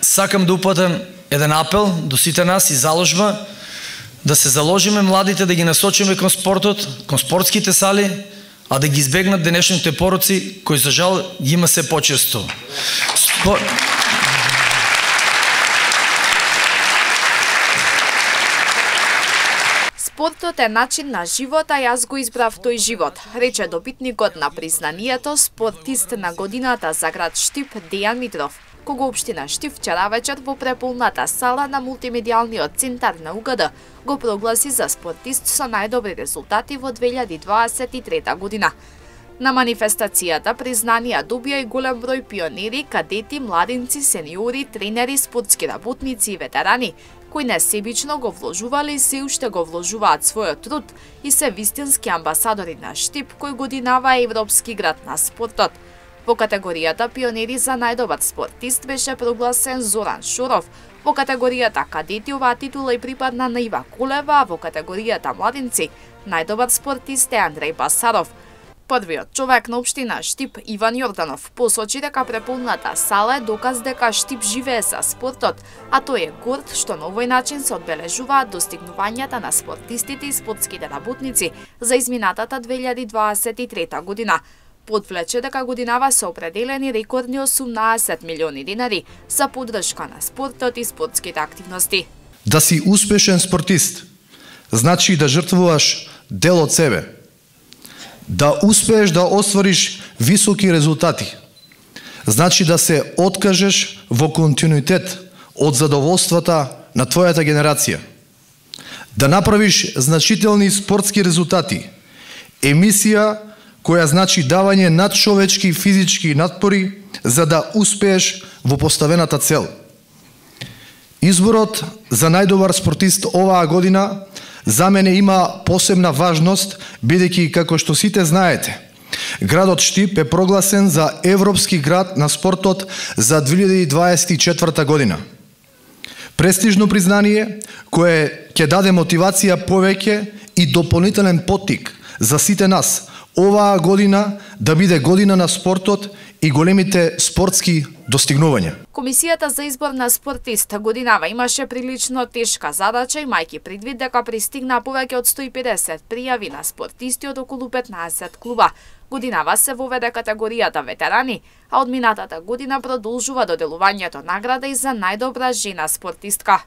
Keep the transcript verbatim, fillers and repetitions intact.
сакам да упатам еден апел до сите нас и заложба да се заложиме младите да ги насочиме кон спортот, кон спортските сали, а да ги избегнат денешните пороци кои за жал ги има се почесто. Спор... Спортот е начин на живот, а јас го избрав тој живот, рече добитникот на признанието спортист на годината за град Штип Дејан Митров, кога општина Штип вчера вечер во преполната сала на мултимедијалниот центар на У Г Д го прогласи за спортист со најдобри резултати во две илјади дваесет и трета година. На манифестацијата признанија добија и голем број пионери, кадети, младинци, сениори, тренери, спортски работници и ветерани, кои несебично го вложувале и се уште го вложуваат својот труд и се вистински амбасадори на Штип, кој годинава е европски град на спортот. Во категоријата пионери за најдобар спортист беше прогласен Зоран Шоров, во категоријата кадети оваа титула и припадна на Ива Колева, а во категоријата младинци најдобар спортист е Андреј Басаров. Првиот човек на општина Штип, Иван Јорданов, посочи дека преполната сала е доказ дека Штип живее за спортот, а тој е горд што на овој начин се одбележуваат достигнувањата на спортистите и спортските работници за изминатата две илјади дваесет и трета година. Подвлече дека годинава се определени рекордни осумнаесет милиони динари за поддршка на спортот и спортските активности. Да си успешен спортист значи да жртвуваш дел од себе. Да успееш да оствариш високи резултати, значи да се откажеш во континуитет од задоволствата на твојата генерација. Да направиш значителни спортски резултати, емисија која значи давање надчовечки физички надпори за да успееш во поставената цел. Изборот за најдобар спортист оваа година за мене има посебна важност, бидејќи, како што сите знаете, градот Штип е прогласен за Европски град на спортот за две илјади дваесет и четврта година. Престижно признание кое ќе даде мотивација повеќе и дополнителен поттик за сите нас оваа година да биде година на спортот и големите спортски достигнувања. Комисијата за избор на спортист годинава имаше прилично тешка задача, имајќи предвид дека пристигна повеќе од сто и педесет пријави на спортисти од околу петнаесет клуба. Годинава се воведе категоријата ветерани, а од минатата година продолжува доделувањето награда и за најдобра жена спортистка.